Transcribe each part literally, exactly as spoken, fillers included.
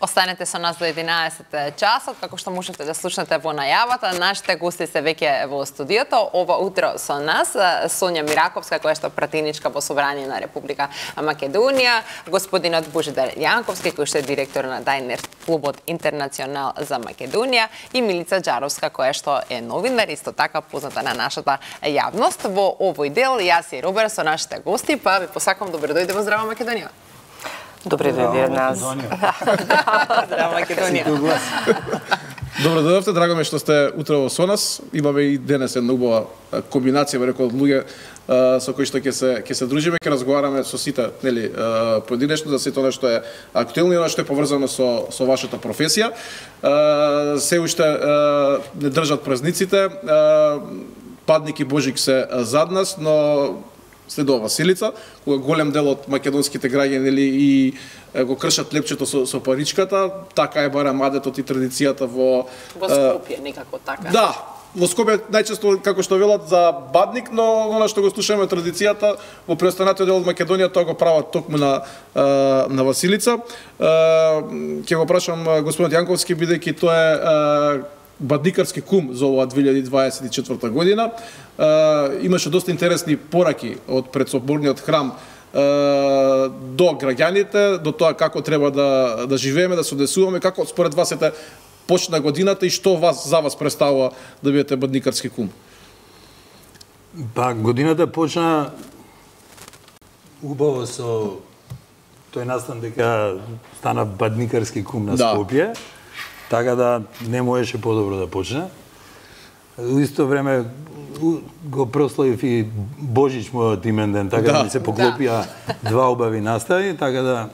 Останете со нас до единаесет часот, како што можете да слушнете во најавата. Нашите гости се веќе во студиото. Ова утро со нас Сонја Мираковска, која што пратеничка во Собрание на Република Македонија, господинот Божидар Јанковски, кој што е директор на Дајнер клубот Интернационал за Македонија, и Милица Џаровска, која што е новинар, исто така позната на нашата јавност. Во овој дел јас и Робер со нашите гости, па ви посакувам добро дојде во Здрава Македонија. Добре дојде од нас. Здрава Македонија. Добро дојдовте, драго ме што сте утрово со нас. Имаме и денес една убава комбинација, ме рекол, од луѓе со кои што ќе се ќе се дружиме, ќе разговараме со сите, нели, поединечно за сето она што е актуелно и она што е поврзано со со вашата професија. Се уште не држат празниците. Падник и Божик се зад нас, но следува Василица, кога голем дел од македонските граѓани и го кршат лепчето со, со паричката, така е барем адетот и традицијата во во Скопје, некако така. Да, во Скопје најчесто како што велат за Бадник, но она што го слушаме традицијата во преостанатиот дел од Македонија, тоа го прават токму на на Василица. Ќе го прашам господинот Јанковски, бидејќи тоа е бадникарски кум за оваа две илјади дваесет и четврта година. Имаше доста интересни пораки од предсоборниот храм до граѓаните, до тоа како треба да да живееме, да се однесуваме, како според вас ете почна годината и што вас за вас представува да бидете бадникарски кум? Па годината почна убаво со тој настан дека стана бадникарски кум на Скопје. Да. Така да не можеше подобро да почне. У исто време го прославив и Божич мојот имен ден, така да ми се поклопија да. Два убави настави, така да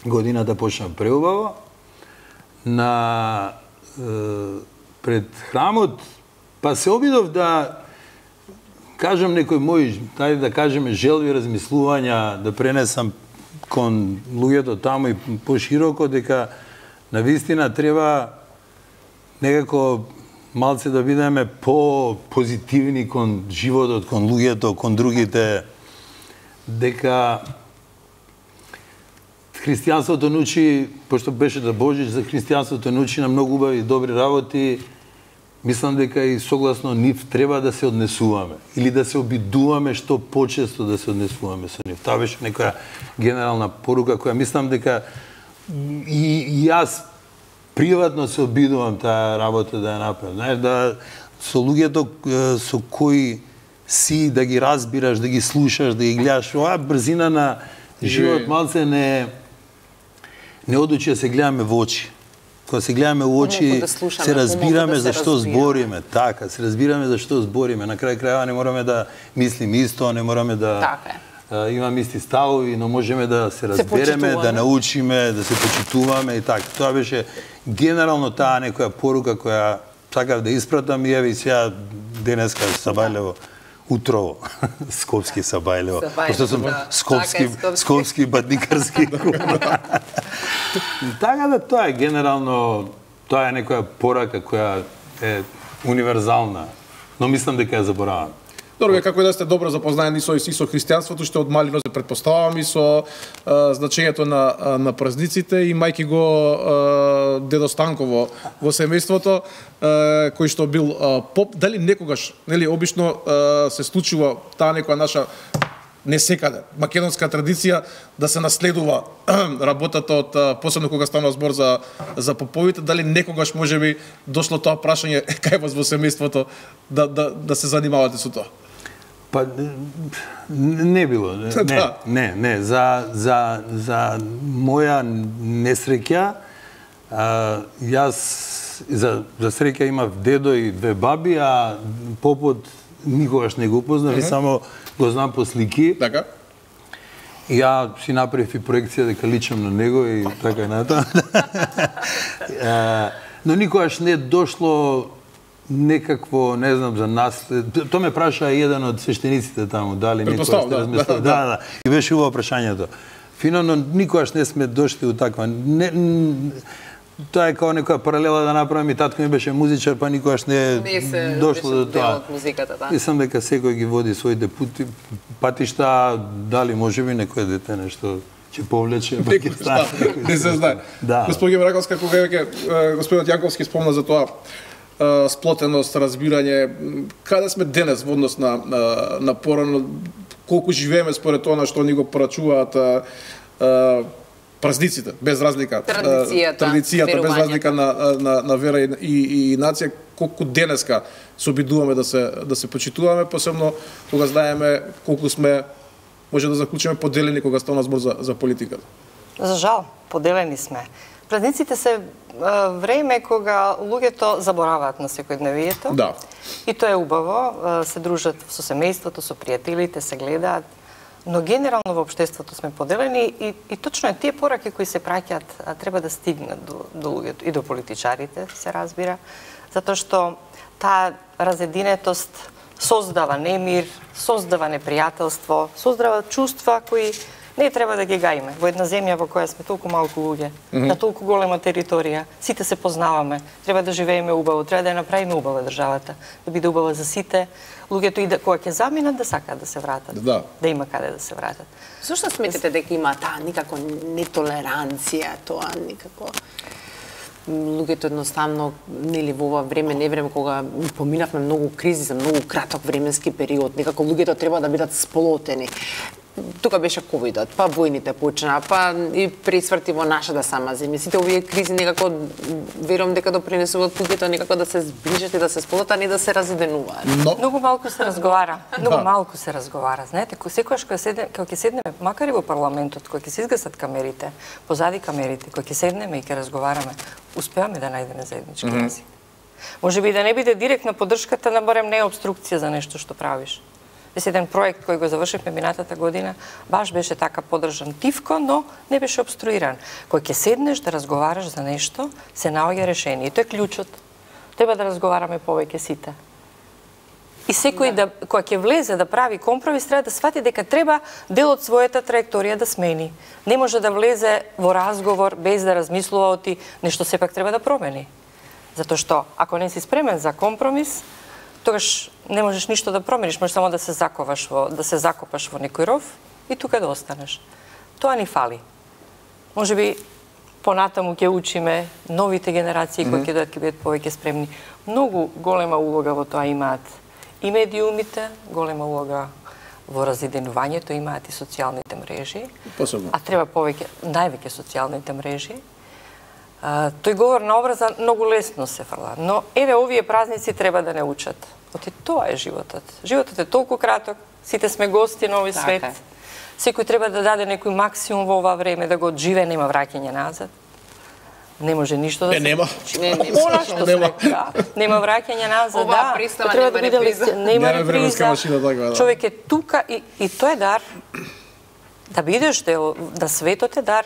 годината почна преубаво. На е, пред храмот, па се обидов да кажам некои мои, тајде да кажеме, желби, размислувања, да пренесам кон луѓето таму и пошироко, дека навистина треба некако малце да бидеме по-позитивни кон животот, кон луѓето, кон другите, дека христијанството научи, пошто беше да Божич, за христијанството научи на многу убави и добри работи, мислам дека и согласно нив треба да се однесуваме или да се обидуваме што почесто да се однесуваме со нив. Тоа беше некоја генерална порука која мислам дека И, и јас приватно се обидувам таа работа да ја направам. Знаеш, да со луѓето со кои си, да ги разбираш, да ги слушаш, да ги гледаш. Оваа брзина на живот малце не не одучи да се гледаме во очи. Кога се гледаме во очи, да слушаме, се разбираме да за што збориме. Така, се разбираме за што збориме. На крај крајава не мораме да мислиме исто, не мораме да... Така е. Имаме исти ставови, но можеме да се разбереме, се да научиме, да се почитуваме и така. Тоа беше генерално таа некоја порука која сакав да испратам и еве сега денеска Сабајлево утрово. Скопски Сабајлево. Пошто сум да. скопски, така е, скопски бадникарски. Така да тоа е генерално, тоа е некоја порака која е универзална, но мислам дека ја заборавам. Добро, како и да сте добро запознаени со и со христијанството, што од малино се претпоставам и со а, значењето на на празниците, и мајки го а, дедо Станко во, во семејството, а, кој што бил а, поп, дали некогаш, нели, обично а, се случува таа некоја наша не секаде македонска традиција да се наследува работата од посебно кога станува збор за за поповите, дали некогаш можеби дошло тоа прашање кај вас во семејството да да да се занимавате со тоа? Па не било, не, да. не, не, за за за моја несреќа, а, јас за за среќа имав дедо и две баби, а попот никогаш не го познав, uh -huh. и само го знам по слики. Така. Ја си направив и проекција дека личам на него и така и натаму. Но никогаш не дошло некакво, не знам, за наслед... Тоа ме праша еден од свештениците таму, дали некој сте размислил. Да, да, и беше убаво прашањето. Фино, никогаш не сме дошли у таква... Не, тоа е као некоја паралела да направам, и татко ми беше музичар, па никогаш не, не се дошло до тоа. Музиката, да. Мислам дека секој ги води своите пути, патишта, дали можеби некој дете нешто ќе повлече Некој Пакистан. не се знае. Да. Господин Раковска, кога веќе господинот Јанковски спомна за тоа е, сплотеност, разбирање, каде сме денес во однос на на, на порано, колку живееме според тоа на што ни го порачуваат е, е, празниците, без разлика, Традицијата, традицијата без разлика на, на, на вера и, и, и нација, колку денеска се обидуваме да се да се почитуваме, посебно кога знаеме колку сме, може да заклучиме, поделени кога стана збор за, за политиката. За жал, поделени сме. Празниците се а, време кога луѓето забораваат на секојдневието. Да. И тоа е убаво, а, се дружат со семејството, со пријателите, се гледаат. Но генерално во општеството сме поделени и, и точно е тие пораки кои се праќаат а, треба да стигнат до, до луѓето и до политичарите, се разбира, затоа што таа разединетост создава немир, создава непријателство, создава чувства кои не треба да ги гаиме. Во една земја во која сме толку малку луѓе, mm -hmm. на толку голема територија, сите се познаваме, треба да живееме убаво, треба да ја направиме убава државата, да биде убава за сите, луѓето и да, кога ќе заминат да сакаат да се вратат, да, да има каде да се вратат. Зошто сметате дека има таа никако нетолеранција, тоа никако луѓето едноставно, нели во ова време, не време кога поминавме многу кризи за многу краток временски период, некако луѓето треба да бидат сплотени. Тука беше ковидот, па војните почна, па и пресврти во нашата сама земја. Сите овие кризи некако верувам дека допринесуваат луѓето некако да се зближат и да се сплотат, а не да се разединуваат. Но... Многу малку се разговара. Многу да. малку се разговара. Знаете, секогаш кога седне, кога ќе седнеме, макар и во парламентот, кога ќе се изгасат камерите, позади камерите, кога ќе седнеме и ќе разговараме, успеаме да најдеме заеднички mm -hmm. јазик. Може би да не биде директна поддршката, на барем не е обструкција за нешто што правиш. Дес еден проект кој го завршивме минатата година, баш беше така поддржан тивко, но не беше обструиран. Кој ќе седнеш да разговараш за нешто, се наоѓа решение. И тоа е клjučот. Треба да разговараме повеќе сите. И секој да, кој ќе влезе да прави компромис, треба да свати дека треба дел од својата траекторија да смени. Не може да влезе во разговор без да размислува оти нешто сепак треба да промени. Затоа што ако не си спремен за компромис, тогаш не можеш ништо да промениш, можеш само да се заковаш во да се закопаш во некој ров и тука да останеш. Тоа ни фали. Можеби понатаму ќе учиме новите генерации кои ќе дојдат ќе бидат повеќе спремни. Многу голема улога во тоа имаат и медиумите, голема улога во разединувањето имаат и социјалните мрежи. Посебно. А треба повеќе, највеќе социјалните мрежи. Uh, тој говор на образа многу лесно се фрла, но еве овие празници треба да не учат. Оти тоа е животот. Животот е толку краток, сите сме гости на овој свет. Така. Секој треба да даде некој максимум во ова време, да го одживе, нема враќање назад. Не може ништо да не, се... нема. Не, нема. Она што нема. сме, да. Нема враќање назад, Ова да. пристава Треба нема да биде реприза. лекција, нема Нема временска реприза. машина, така, да. Човек е тука и, и тоа е дар. Да бидеш дел, да светот е дар.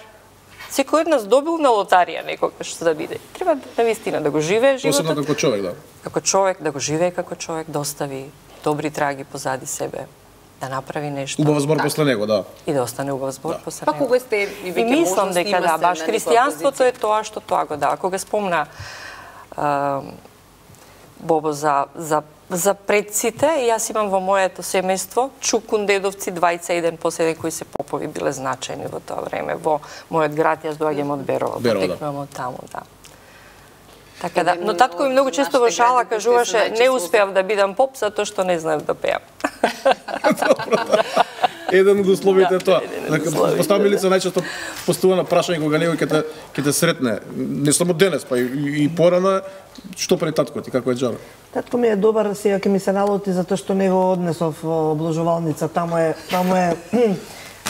Секој од нас добил на лотарија некогаш да биде. Треба навистина да го живее животот. Посебно како човек, да. Како човек, да го живее како човек, да остави добри траги позади себе, да направи нешто. Убав збор после него, да. И да остане убав збор Да. после Па него. кога сте и И веќе мислам можности дека има да, се баш на христијанството некоја е тоа што тоа го дава. Кога спомна а, Бобо за, за, за предците, јас имам во моето семејство чукун дедовци, двајца еден после еден кои се попови биле значајни во тоа време. Во мојот град јас доаѓам од Берово, Берово, да. потекнувам од таму, да. Така да, но татко ми многу често во шала кажуваше не успеав да бидам поп затоа што не знаев да пеам. Еден од условите е тоа. еден од Дека условите, поставилица најчесто поставува на прашање кога некој ќе те ќе те сретне. Не само денес, па и, и порано, што прави татко ти, како е џабе? Татко ми е добар, сега ќе ми се налоти затоа што не го однесов во обложувалница, таму е, таму е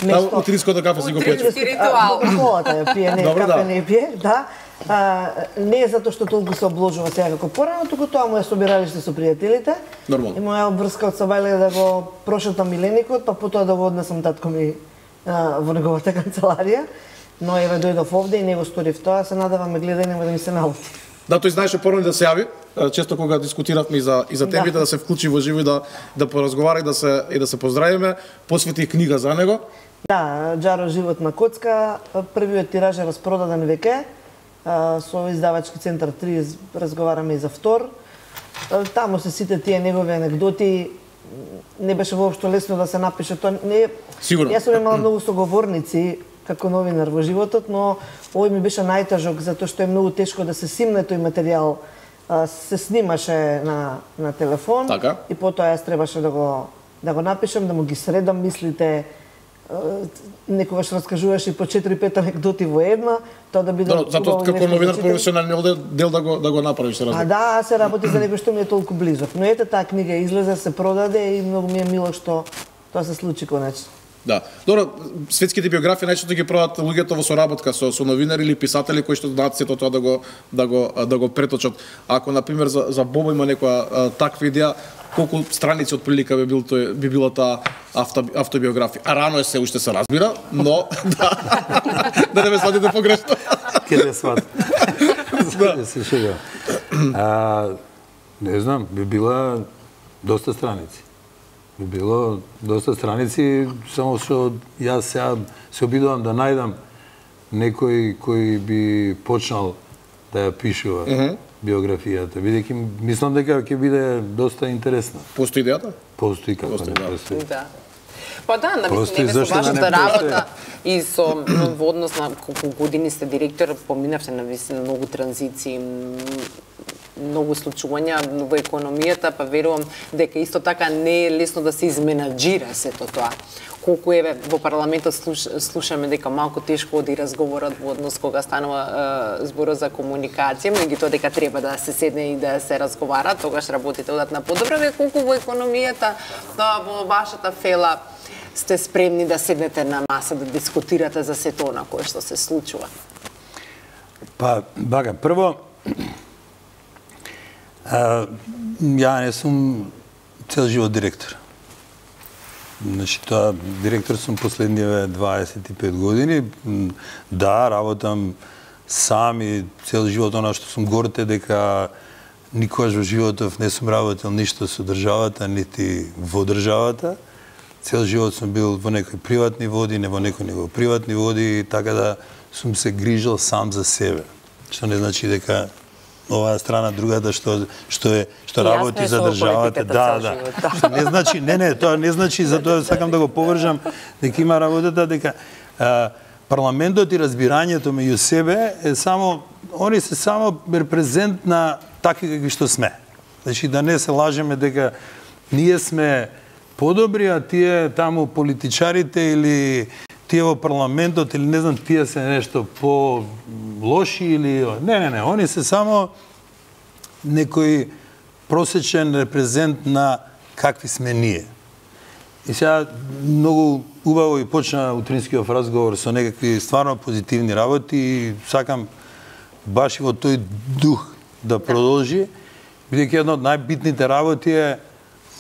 Таму утринското кафе си го пиеш. Утрински ритуал. Колата ја пие, не, Добро, кафе да. не пие, да. А, не е затоа што толку се обложува сега како порано, туку тоа му е собиралиште со пријателите. Нормално. И моја врска од Сабајле да го прошетам миленикот, па потоа да го однесам татко ми а, во неговата канцеларија. Но еве дојдов овде и не го сторив тоа, се надевам ме гледа и нема да ми се налоти. Да, тој знаеше порано да се јави, често кога дискутиравме и за и за темите да, Да. да се вклучи во живо и да да поразговара и да се и да се поздравиме, посвети книга за него. Да, Џаро живот на коцка, првиот тираж е распродаден веќе. Со издавачки центар три разговараме и за втор. Таму се сите тие негови анегдоти. Не беше воопшто лесно да се напише тоа. Не, Сигурно. Јас сум имала многу соговорници како новинар во животот, но овој ми беше најтажок затоа што е многу тешко да се симне тој материјал. Се снимаше на на телефон така. И потоа јас требаше да го да го напишам, да му ги средам мислите. Некогаш раскажуваш и по четири-пет анекдоти во една, тоа да биде. Да, затоа како новинар професионален дел да го да го направиш разлика. А да, се работи за некој што ми е толку близок. Но ете таа книга излезе, се продаде и многу ми е мило што тоа се случи конечно. Да. Добро, светските биографии најчесто ги прават луѓето во соработка со со новинари или писатели кои што знаат сето тоа да го да го да го преточат. Ако на пример за за Бобо има некоја таква идеја, колку страници од прилика би бил тој би била таа авто, автобиографија. А рано е се уште се разбира, но да да не ме сватите погрешно. Ке не сват. Да се шега. А не знам, би била доста страници. Би било доста страници, само што јас сега се обидувам да најдам некој кој би почнал да ја пишува mm -hmm. биографијата, бидејќи мислам дека ќе биде доста интересна. Постои идејата? Постои, како постои, не постои. Да. Па да, на мислам, не со вашата работа и со во однос на колку години сте директор, поминавте на висина многу транзиции, многу случувања во економијата, па верувам дека исто така не е лесно да се изменаџира сето тоа. Колку еве во парламентот слуш, слушаме дека малку тешко оди разговорот во однос кога станува е, зборот за комуникација, меѓутоа дека треба да се седне и да се разговара, тогаш работите одат на подобро. Ве колку во економијата, да, во вашата фела сте спремни да седнете на маса да дискутирате за сето на кое што се случува? Па, бага, прво А, ја не сум цел живот директор. Значи, тоа, директор сум последниве дваесет и пет години. Да, работам сам и цел живот, она што сум горд е дека никогаш во животов не сум работел ништо со државата, нити во државата. Цел живот сум бил во некои приватни води, не во некои него приватни води, така да сум се грижал сам за себе. Што не значи дека оваа страна, другата што што е што работи за државата, да, да. Што не значи, не, не, тоа не значи, затоа сакам да го повржам дека има работата дека а, парламентот и разбирањето меѓу себе е само, они се само репрезент на такви какви што сме. Значи да не се лажеме дека ние сме подобри, а тие таму политичарите или тие во парламентот или не знам тие се нешто по лоши или не не не, они се само некој просечен репрезент на какви сме ние. И сега многу убаво и почна утринскиот разговор со некакви стварно позитивни работи и сакам баш и во тој дух да продолжи, бидејќи една од најбитните работи е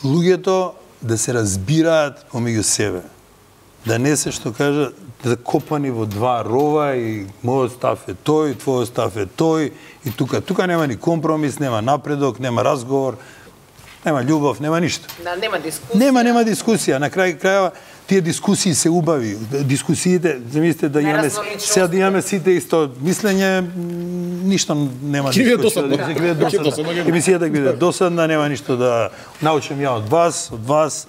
луѓето да се разбираат помеѓу себе. Да не се, што кажа, закопани во два рова и мојот став е тој, твојот став е тој и тука. Тука нема ни компромис, нема напредок, нема разговор, нема љубов, нема ништо. Да, нема дискусија. Нема, нема дискусија. На крај крајава тие дискусии се убави. Дискусиите, замислите да имаме сега да имаме сите исто мислење, ништо нема дискусија. Ќе биде досадно. Емисијата ќе биде досадна, нема ништо да научам ја од вас, од вас.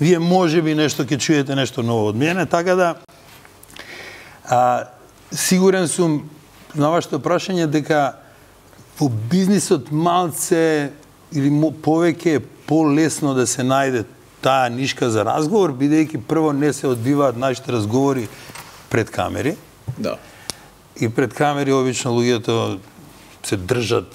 Вие може би нешто ќе чуете нешто ново од мене, така да а, сигурен сум на вашето прашање дека во бизнисот малце или повеќе е полесно да се најде таа нишка за разговор, бидејќи прво не се одбиваат нашите разговори пред камери. Да. И пред камери обично луѓето се држат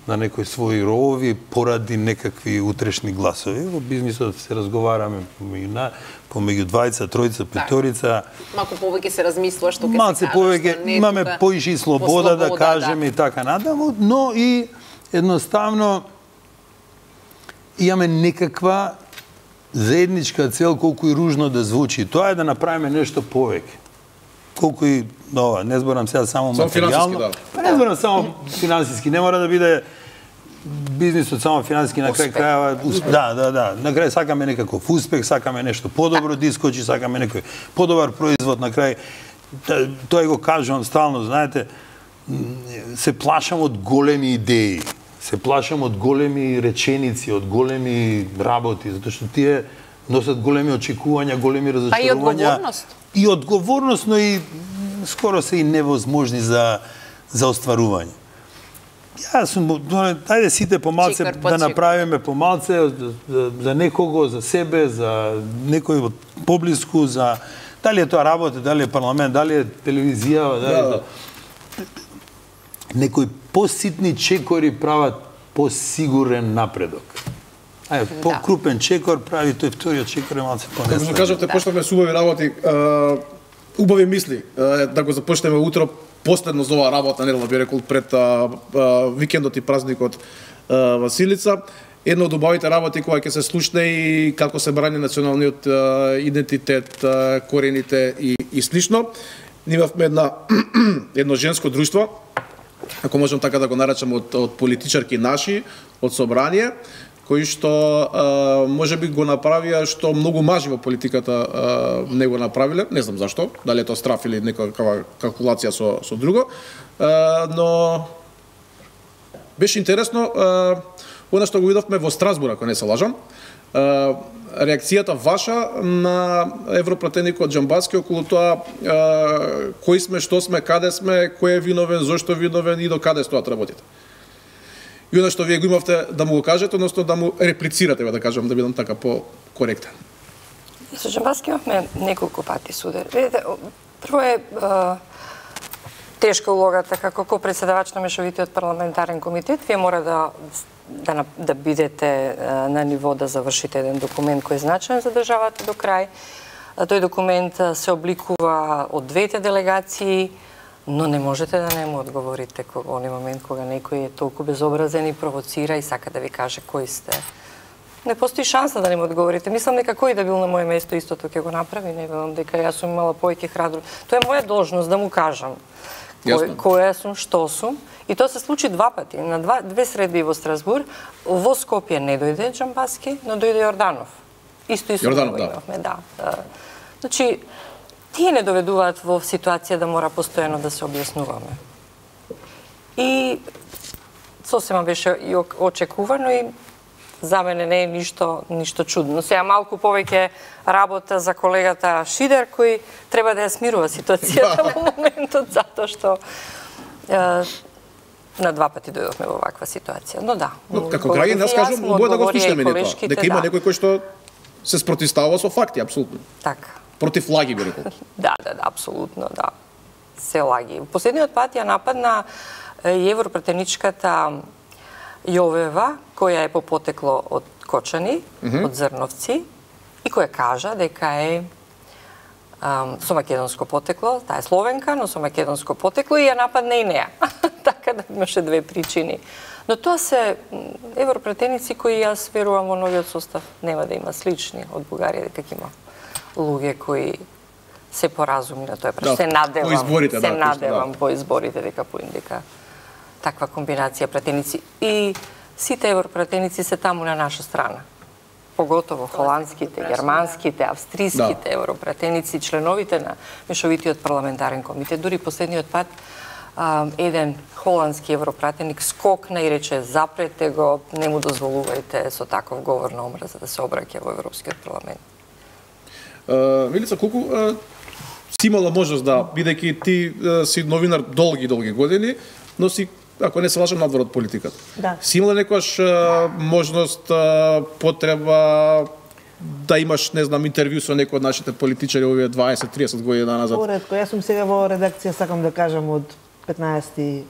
на некои своји ровови поради некакви утрешни гласови. Во бизнисот се разговараме помеѓу на помеѓу двајца, тројца, петорица. Малку повеќе се размислува што ќе се каже. Малце повеќе имаме поише слобода да кажеме и така надаму, но и едноставно имаме некаква заедничка цел, колку и ружно да звучи. Тоа е да направиме нешто повеќе. Колку и ова, не зборам сега само материјално. Да. Па не зборам само финансиски, не мора да биде бизнисот само финансиски, на крај крајава, да, да, да, на крај сакаме некаков успех, сакаме нешто подобро да искочи, сакаме некој подобар производ на крај. Тоа го кажувам стално, знаете, се плашам од големи идеи. Се плашам од големи реченици, од големи работи, затоа што тие носат големи очекувања, големи разочарувања. Па и одговорност. И одговорност, но и скоро се и невозможни за за остварување. Јас сум, ајде сите помалце да направиме помалце за, за некого, за себе, за некој од поблиску, за дали е тоа работа, дали е парламент, дали е телевизија, дали е тоа. Некои поситни чекори прават посигурен напредок. Ајде, по-крупен чекор прави тој вториот чекор е малце понесен. Како кажавте, почнавме со убави работи, убави мисли, да го започнеме утро, последно за оваа работна недела, би рекол, пред а, а, викендот и празникот а, Василица. Една од убавите работи која ќе се слушне и како се брани националниот а, идентитет, а, корените и, и слично. Имавме една, едно женско друштво, ако можам така да го наречам, од, од политичарки наши, од собрание, кои што а, може би го направија што многу мажи во политиката а, не го направиле, не знам зашто, дали е тоа страф или некаква калкулација со, со друго, а, но беше интересно, а, она што го видовме во Страсбур, ако не се лажам, а, реакцијата ваша на европратеникот Џамбаски околу тоа а, кои сме, што сме, каде сме, кој е виновен, зошто виновен и до каде стоат работите. И оно што вие го имавте да му го кажете, односно да му реплицирате, да кажам, да бидам така по-коректен. Со Џамбаски имавме неколку пати суде. Видите, прво е, е тешка улогата како ко-председавач на Мешовитиот парламентарен комитет. Вие мора да, да, да бидете на ниво да завршите еден документ кој е значаен за државата до крај. Тој документ се обликува од двете делегации, но не можете да не му одговорите во оној момент кога некој е толку безобразен и провоцира и сака да ви каже кои сте. Не постои шанса да не му одговорите. Мислам дека кој да бил на моје место истото ќе го направи, не велам дека јас сум имала повеќе храброст. Тоа е моја должност да му кажам кој, која сум, што сум. И тоа се случи два пати. На два, две средби во Страсбур. Во Скопје не дојде Џамбаски, но дојде Јорданов. Исто исто Јорданов, да. Имавме, да. Значи, тие не доведуваат во ситуација да мора постојано да се објаснуваме. И сосема беше и очекувано и за мене не е ништо, ништо чудно. Сега малку повеќе работа за колегата Шидер, кој треба да ја смирува ситуацијата во моментот, затоа што е, на два пати дојдовме во ваква ситуација. Но да. Но, како граѓани, нас кажам, убаво да го слушнеме тоа. Дека има да. Некој кој што се спротивставува со факти, апсолутно. Така. Против лаги, би рекол. Да, да, да, апсолутно, да. Се лаги. Последниот пат ја нападна и европратеничката Јовева, која е по потекло од Кочани, mm -hmm. од Зрновци, и која кажа дека е ам, со македонско потекло, таа е словенка, но со македонско потекло, и ја нападна и неа. Така да имаше две причини. Но тоа се европратеници кои јас верувам во новиот состав нема да има слични од Бугарија, дека има луѓе кои се поразумни на тоа. Да, се надевам, по изборите, се да, надевам да. По изборите дека поиндика таква комбинација пратеници. И сите европратеници се таму на наша страна. Поготово холандските, германските, австриските да. Европратеници, членовите на Мешовитиот парламентарен комитет. Дури последниот пат а, еден холандски европратеник скокна и рече запрете го, не му дозволувајте со таков говор на омраза да се обраќа во Европскиот парламент. Uh, Милица, колку uh, си имала можност да, бидејќи ти uh, си новинар долги, долги години, но си, ако не се лажам, надвор од политиката. Да. Си имала некојаш uh, можност, uh, потреба да имаш, не знам, интервју со некој од нашите политичари овие дваесет до триесет години назад? Поредко, јас сум сега во редакција, сакам да кажам, од петнаесети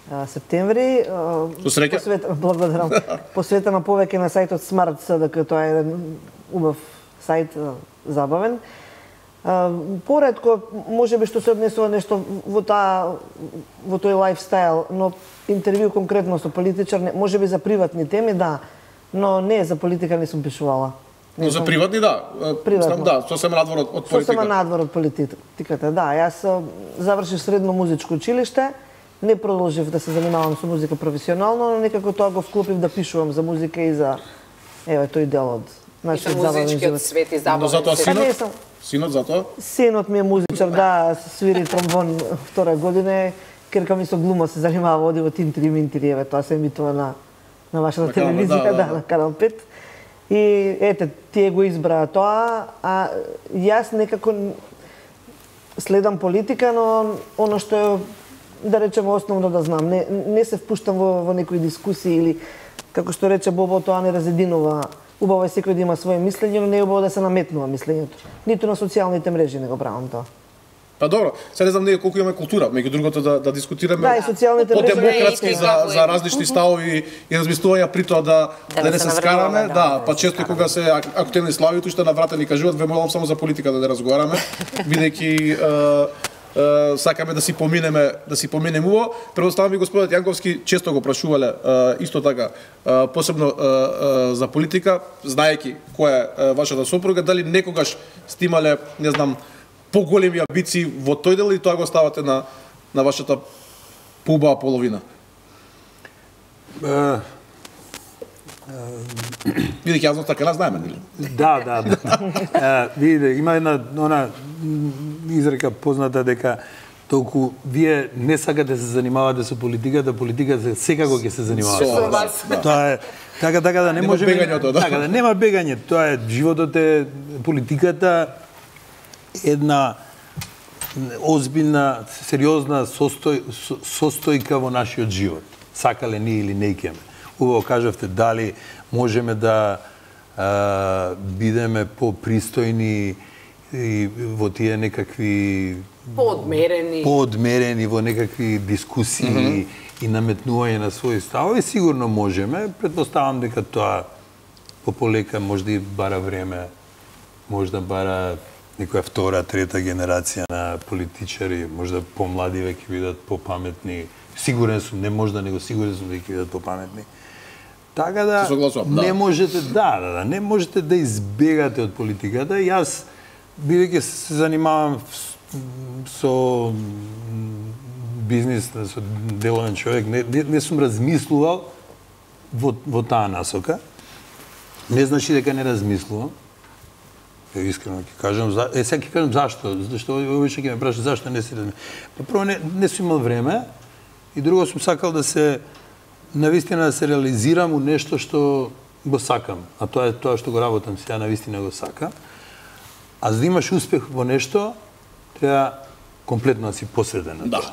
септември. Со среќа? Посвет... Благодарам. Посветена повеќе на сајтот Smart СДК, тоа е еден убав сајт, забавен. Поредко, може би што се однесува нешто во таа во тој лајфстайл, но интервју конкретно со политичар, може би за приватни теми, да, но не за политика не сум пишувала. Но за приватни, да. Приватно. Да, сосема надвор од политика. Сосема надвор од политиката, да. Јас завршив средно музичко училиште, не продолжив да се занимавам со музика професионално, но некако тоа го вклопив да пишувам за музика и за еве тој дел од нашиот забавен живот. Музичкиот свет и забавен. Но затоа синот? Синот затоа? Синот ми е музичар, да, свири тромбон втора година. Керка ми со глума се занимава, оди во Тинтри Минтри, еве тоа се емитува на на вашата телевизија, да, на Канал пет. И ете, тие го избраа тоа, а јас некако следам политика, но оно што е, да речеме, основно да знам, не, не се впуштам во, во некои дискусии или, како што рече Бобо, тоа не разединува. Убаво е секој да има свое мислење, но не е убаво да се наметнува мислењето. Ниту на социјалните мрежи не го правам тоа. Па добро, сега не знам ние колку имаме култура, меѓу другото да, да дискутираме да, и социјалните мрежи по-демократски за, за различни ставови и размислувања при тоа да, да, да не се скараме, да, да, па често кога се актуелни славите уште на врата ни кажуваат, ве молам само за политика да не разговараме, бидејќи Uh, сакаме да си поминеме, да си поминеме уво. Предоставам ви господинот Јанковски, често го прашувале uh, исто така, uh, посебно uh, uh, за политика, знаејќи која е uh, вашата сопруга, дали некогаш сте имале, не знам, поголеми амбиции во тој дел и тоа го ставате на на вашата поубава половина? Uh... Видите, јас така не знаеме, нели? Да, да, да. Видите, има една она изрека позната дека толку вие не сакате да се занимавате со политиката, политиката секако ќе се занимава со вас. Тоа е така така да не може да. Така да нема бегање, тоа е животот е политиката една озбилна, сериозна состој, состојка во нашиот живот. Сакале ние или не икеме. Убаво кажавте дали можеме да а, бидеме попристојни и во тие некакви поодмерени поодмерени во некакви дискусии mm -hmm. и наметнување на своји ставови, сигурно можеме. Претпоставам дека тоа пополека може да и бара време, може да бара некоја втора, трета генерација на политичари, може да помлади веќе бидат попаметни. Сигурен сум, не може да него сигурен сум дека ќе бидат попаметни. Така да не да. можете да, да, да, не можете да избегате од политиката. Јас бидејќи се занимавам со бизнис, со деловен човек, не, не, не сум размислувал во, во таа насока. Не значи дека не размислувам. Искрено ќе кажам, е сега ќе кажам зашто, зашто обично ќе ме прашаат зашто не си размислувам. Па прво не, не сум имал време и друго сум сакал да се навистина да се реализирам у нешто што го сакам, а тоа е тоа што го работам сега, навистина го сакам. А за да имаш успех во нешто, треба комплетно да си посветен на тоа. Да.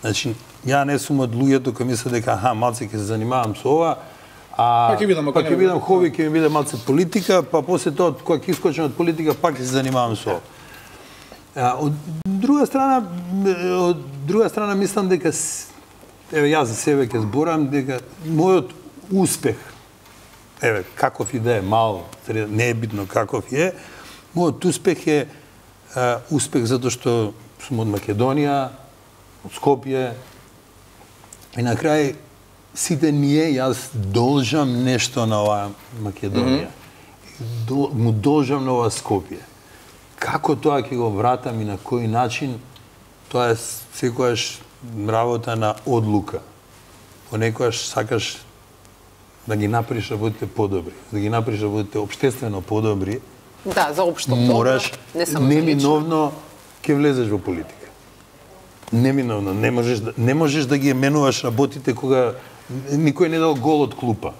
Значи, ја не сум од луѓето кои мислат дека аха, малце ќе се занимавам со ова, а па ќе видам, па ќе видам хоби, ќе ми биде малце политика, па после тоа кога ќе искочам од политика пак ќе се занимавам со ова. А, од друга страна, од друга страна мислам дека еве јас за себе ќе зборам дека мојот успех, еве каков и да е мал, не е битно каков е, мојот успех е а, успех затоа што сум од Македонија, од Скопје и на крај сите ние јас должам нешто на оваа Македонија. Mm -hmm. До, му должам на оваа Скопје. Како тоа ќе го вратам и на кој начин, тоа е секојаш работа на одлука. Понекогаш сакаш да ги направиш работите подобри, да ги направиш работите општествено подобри. Да, за општо мораш, не само неминовно ќе влезеш во политика. Неминовно, не можеш да, не можеш да ги менуваш работите кога никој не дал гол од клупа.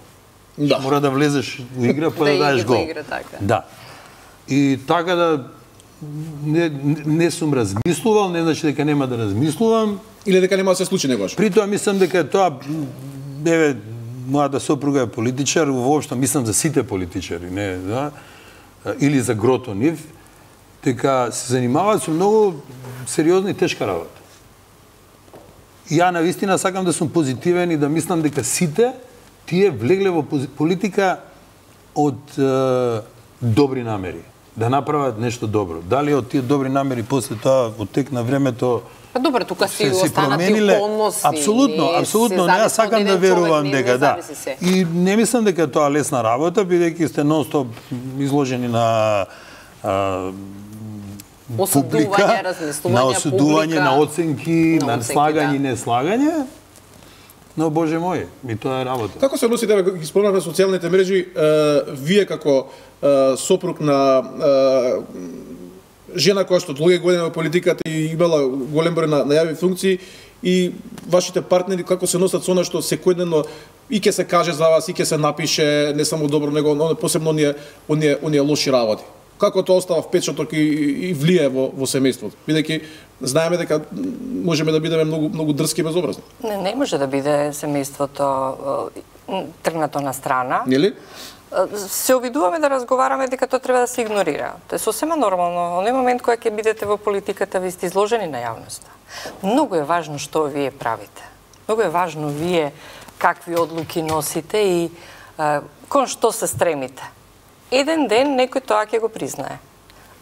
Да. Мора да влезеш во игра па да, да даеш гол. Игра, така. Да. И така да не, не сум размислувал, не значи дека нема да размислувам. Или дека нема да се случи негош. При тоа мислам дека тоа, еве, мојата сопруга е политичар, воопшто мислам за сите политичари, не, да, или за грото нив, дека се занимаваат со многу сериозна и тешка работа. Ја навистина сакам да сум позитивен и да мислам дека сите тие влегле во политика од е, добри намери, да направат нешто добро. Дали од тие добри намери после тоа во тек на времето Па добро, тука си останати околности. Апсолутно, апсолутно, не ја сакам да верувам дека да. И не мислам дека тоа лесна работа, бидејќи сте нон-стоп изложени на а, публика, на осудување, на оценки, на, на слагање и да. неслагање. Но боже мој, ми тоа е работа. Како се односите, ги спомнавме социјалните мрежи, е, вие како е, сопруг на е, жена која што долги години во политиката и имала голем број на, на јави функции и вашите партнери како се носат со она што секојдневно и ќе се каже за вас, и ќе се напише не само добро, него но посебно оние оние оние лоши работи. Како тоа остава впечаток и, и влие во во семејството, бидејќи знаеме дека можеме да бидеме многу многу дрски и безобразни. Не, не може да биде семејството тргнато на страна. Нели? Се обидуваме да разговараме дека тоа треба да се игнорира. Тоа е сосема нормално. Оној момент кога ќе бидете во политиката, ви сте изложени на јавноста. Многу е важно што вие правите. Многу е важно вие какви одлуки носите и а, кон што се стремите. Еден ден некој тоа ќе го признае.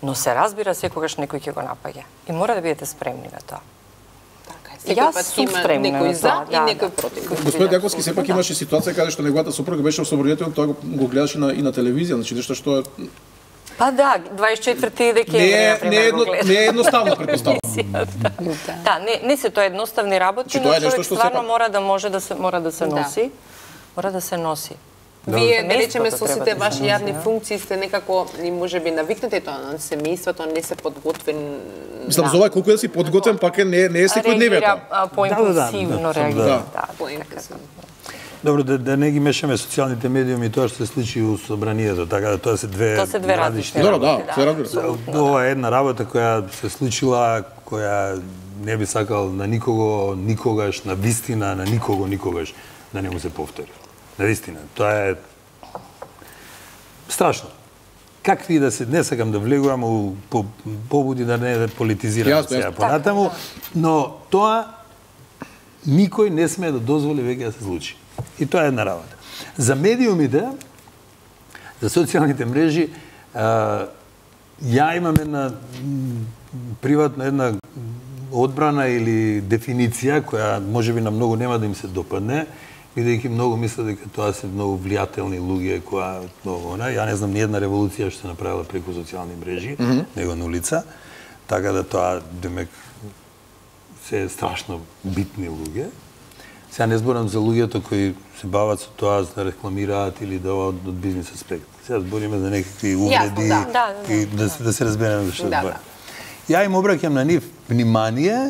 Но се разбира секогаш некој ќе го напаѓа. И мора да бидете спремни на тоа. Јас сум спремна некој за и да, некој да. против. Господин Јаковски сепак имаше ситуација каде што неговата сопруга беше освободител, тоа го, го гледаше на, и на телевизија, значи нешто што е Па да, дваесет и четврти декември, не, например, не, едно, го гледам. не е едноставно, предпоставам. Да, не, не се тоа едноставни работи, но човек стварно мора да може да се мора да се носи. Мора да се носи. Вие, да речеме, со сите ваши јавни функции сте некако, и можеби навикнати тоа на семејството, не се подготвен. Мислам, за ова колку да си подготвен, пак е не, не е секојдневието. Реагира поимпулсивно, реагира. Добро, да, да не ги мешаме социјалните медиуми и тоа што се случи у собранието, така да тоа се две Тоа се две различни Добро, работи. да, се разбира. Ова е една работа која се случила, која не би сакал на никого, никогаш, на вистина, на никого, никогаш да не му се повтори. На вистина, тоа е страшно. Какви да се, не сакам да влегувам у по, побуди да не да политизирам сега понатаму, но тоа никој не смее да дозволи веќе да се случи. И тоа е една работа. За медиумите, за социјалните мрежи, а, ја имам една приватна една одбрана или дефиниција која можеби на многу нема да им се допадне, бидејќи многу мислат дека тоа се многу влијателни луѓе која многу она. Ја не знам ни една револуција што се направила преку социјални мрежи, mm -hmm. него на улица, така да тоа демек се е страшно битни луѓе. Сега не зборам за луѓето кои се бават со тоа за да рекламираат или да од, од бизнес аспект. Сега збориме за некакви увреди да. Да, да, и да, да се разбереме за што да, зборам. да. Ја им обраќам на нив внимание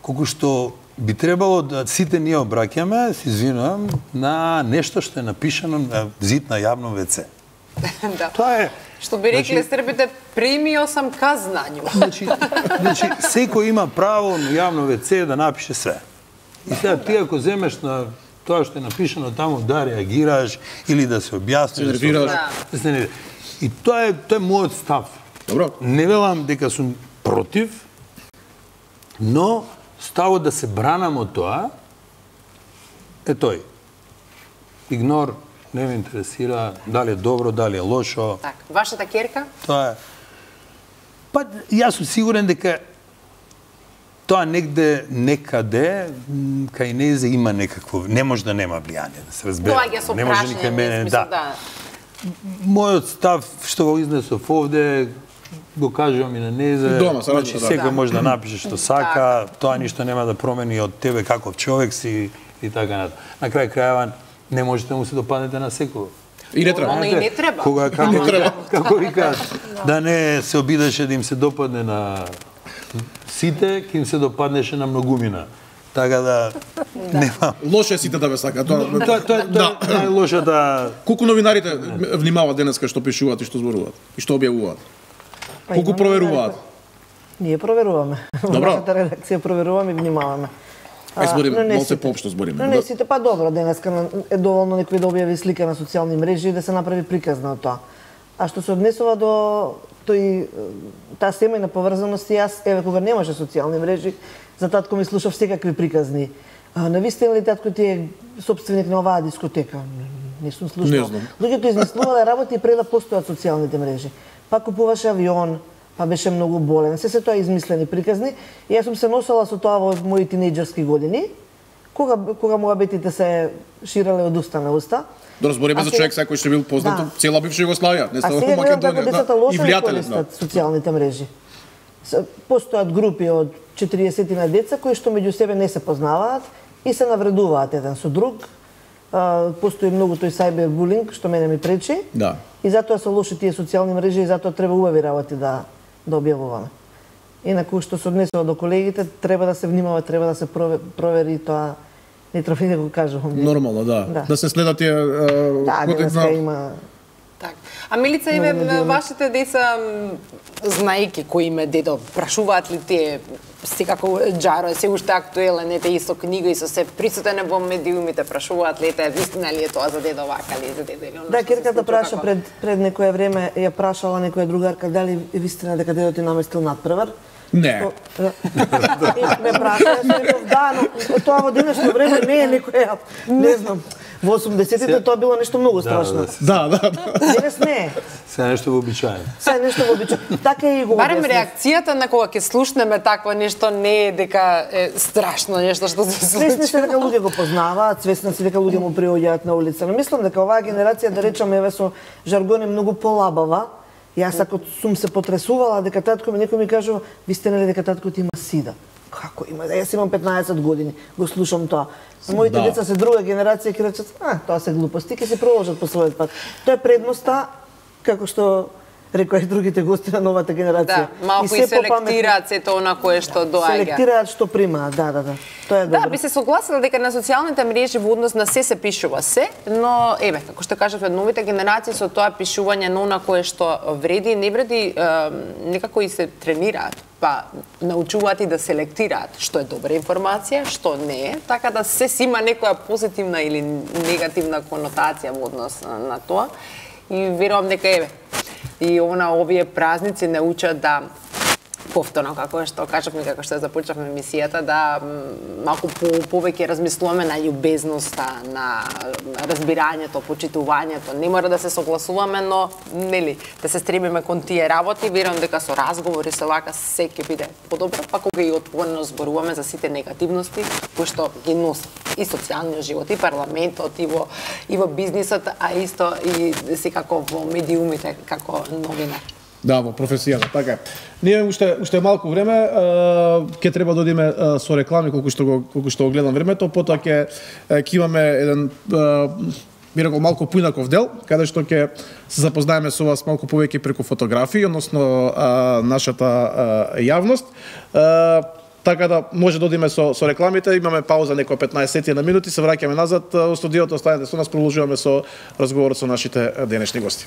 колку што би требало да сите ние обраќаме, се извинувам, на нешто што е напишано на зид на јавно вец. Да. Тоа е. Што би рекле значи, србите, примио сам ка знању. Значи, значи секој има право на јавно вец да напише све. И сега ти ако земеш на тоа што е напишано таму да реагираш или да се објасниш, се нервираш. да се нервираш. И тоа е тоа е мојот став. Добро. Не велам дека сум против, но ставот да се бранам од тоа е тој. Игнор, не ме интересира дали е добро, дали е лошо. Так, вашата ќерка? Тоа е. Па јас сум сигурен дека тоа негде, некаде, кај незе има некакво, не може да нема влијание, да се разбере. Доаѓа со не може ни кај мене, да. да. Мојот став што го изнесов овде, го кажувам и на незе. Дома, се значи, разбира, секој да. може да напише што сака, тоа ништо нема да промени од тебе каков човек си и така натаму. На крај крајава не можете да му се допаднете на секој. И не треба. Но и не треба. Кога како, Не треба. како викаат, да не се обидеше да им се допадне на сите, ќе им се допаднеше на многумина. Така да нема. Лошо е сите да ве сака. Тоа Тоа тоа да. тоа е лошата. Колку новинарите внимаваат денеска што пишуваат и што зборуваат и што објавуваат? Колку проверуваат? Ние проверуваме. Добро. Нашата редакција проверуваме и внимаваме. Ај збориме, но не малце сите. поопшто збориме. Но не сите, па добро, денеска на- е доволно некој да објави слика на социјални мрежи и да се направи приказна од тоа. А што се однесува до тој таа семејна поврзаност, јас еве кога немаше социјални мрежи, за татко ми слушав секакви приказни. А, навистина ли татко ти е собственик на оваа дискотека? Не сум слушнал. Не знам. Луѓето измислувале работи пред да постојат социјалните мрежи. Па купуваше авион, па беше многу болен. Се се тоа измислени приказни. И јас сум се носела со тоа во мои тинејџерски години, кога кога муабетите се ширеле од уста на уста. Да разбориме А за сега- човек секој што бил познат Да. од цела бивша Југославија, не А само сега гледам како Македонија, децата да, и лошо ги влијателен, да. користат социјалните мрежи. С- Постојат групи од четириесет на деца кои што меѓу себе не се познаваат и се навредуваат еден со друг. А, Постои многу тој сајбербулинг што мене ми пречи. Да. И затоа се лоши тие социјални мрежи и затоа треба убави работи да да објавуваме. Инаку што се однесува до колегите, треба да се внимава, треба да се провери тоа. Не трофи да го кажувам. Нормално, да. Да, да се следат тие да, денеска има. Так. А Милица, еве вашите деца, знаејќи кој им е дедо, прашуваат ли тие секако Џаро е се уште актуелен, ете и со книга и со се присутен во медиумите, прашуваат ли ете вистина ли е тоа за дедо вака ли за дедо или оно? Да, керката праша пред пред некое време ја прашала некоја другарка дали е вистина дека дедо ти наместил надпревар. Не. Ме праша, јас реков да, но тоа во денешно време не е некоја, не знам. Во осумдесетите тоа било нешто многу страшно. Да, да, да. Денес не е. Се нешто вообичаено. Се нешто вообичаено. Така и го барем реакцијата на кога ќе слушнеме такво нешто не е дека е страшно нешто што се случи. Свесни се дека луѓе го познаваат, свесни се дека луѓе му приоѓаат на улица. Но мислам дека оваа генерација, да речеме, еве со жаргон е многу полабава. Јас ако сум се потресувала дека татко ми некој ми кажува, ви сте нели дека татко ти има сида. Како има? Јас имам петнаесет години, го слушам тоа. Моите да. деца се друга генерација ќе речат, а, тоа се глупости, ќе се продолжат по својот пат. Тоа е предноста, како што рекоа и другите гости на новата генерација. Да, малку и, и селектираат сето она кое што доаѓа. Селектираат што примаат, да, да, да. Тоа е добро. Да, би се согласила дека на социјалните мрежи во однос на се се пишува се, но еве, како што кажавме, новите генерации со тоа пишување на она кое што вреди и не вреди, е, некако и се тренираат, па научуваат и да селектираат што е добра информација, што не е, така да се си има некоја позитивна или негативна конотација во однос на, на тоа. И верувам дека еве и она овие празници не учат да повторно, како што кажавме, како што започнавме емисијата, да малку по, повеќе размислуваме на љубезноста, на разбирањето, почитувањето. Не мора да се согласуваме, но нели да се стремиме кон тие работи. Верувам дека со разговори со вака се ќе биде подобро, па кога и отворено зборуваме за сите негативности кои што ги носат и социјалниот живот, и парламентот, и во и во бизнисот, а исто и секако во медиумите како новина. Да, во професијата, така е. Ние уште уште малку време ќе треба да одиме со реклами колку што го колку што го гледам времето, потоа ќе ќе имаме еден би рекол малку поинаков дел, каде што ќе се запознаеме со вас малку повеќе преку фотографии, односно нашата јавност. Така да може да одиме со со рекламите, имаме пауза некоја петнаесет на минути, се враќаме назад во студиото, останете со нас, продолжуваме со разговорот со нашите денешни гости.